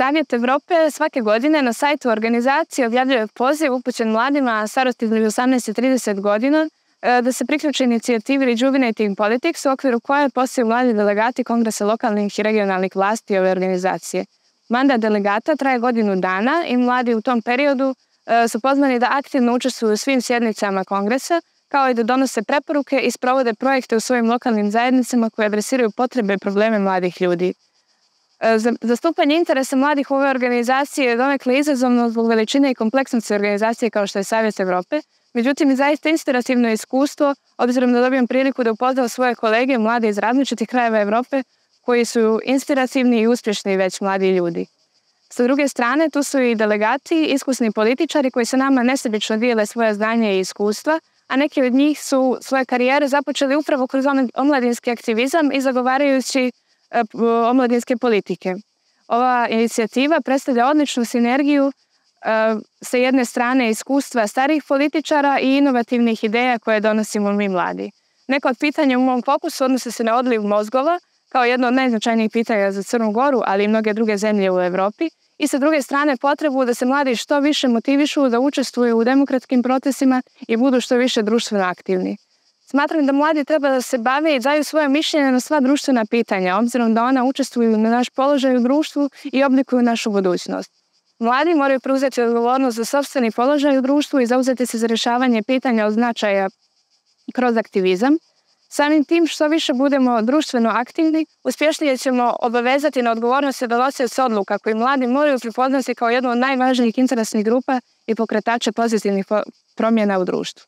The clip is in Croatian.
Savjet Evrope svake godine na sajtu organizacije objavljuje poziv upućen mladima starosti između 18 i 30 godina da se priključe inicijativi Rejuvenating Politics, u okviru koje postaju mladi delegati Kongresa lokalnih i regionalnih vlasti ove organizacije. Mandat delegata traje godinu dana i mladi u tom periodu su pozvani da aktivno učestvuju u svim sjednicama Kongresa, kao i da donose preporuke i sprovode projekte u svojim lokalnim zajednicama koje adresiraju potrebe i probleme mladih ljudi. Zastupanje interesa mladih u ove organizacije je donekle izazovno zbog veličine i kompleksnosti organizacije kao što je Savjet Evrope, međutim i zaista inspirativno iskustvo, obzirom da dobijem priliku da upoznam svoje kolege mlade iz različitih krajeva Evrope koji su inspirativni i uspješni već mladi ljudi. Sa druge strane, tu su i delegati, iskusni političari koji sa nama nesebično dijele svoje znanje i iskustva, a neki od njih su svoje karijere započeli upravo kroz omladinski aktivizam i zagovarajući omladinske politike. Ova inicijativa predstavlja odličnu sinergiju sa jedne strane iskustva starijih političara i inovativnih ideja koje donosimo mi mladi. Neko od pitanja u mom fokusu odnose se na odliv mozgova, kao jedno od najznačajnijih pitanja za Crnu Goru, ali i mnoge druge zemlje u Evropi, i sa druge strane potrebu da se mladi što više motivišu da učestvuju u demokratskim procesima i budu što više društveno aktivni. Smatram da mladi treba da se bave i daju svoje mišljenje na sva društvena pitanja, obzirom da ona učestvuju na naš položaj u društvu i oblikuju našu budućnost. Mladi moraju preuzeti odgovornost za sopstveni položaj u društvu i zauzeti se za rješavanje pitanja od značaja kroz aktivizam. Samim tim što više budemo društveno aktivni, uspješnije ćemo obavezati na odgovornost donosioca odluka koji mladi moraju prepoznati kao jednu od najvažnijih interesnih grupa i pokretača pozitivnih promjena u društvu.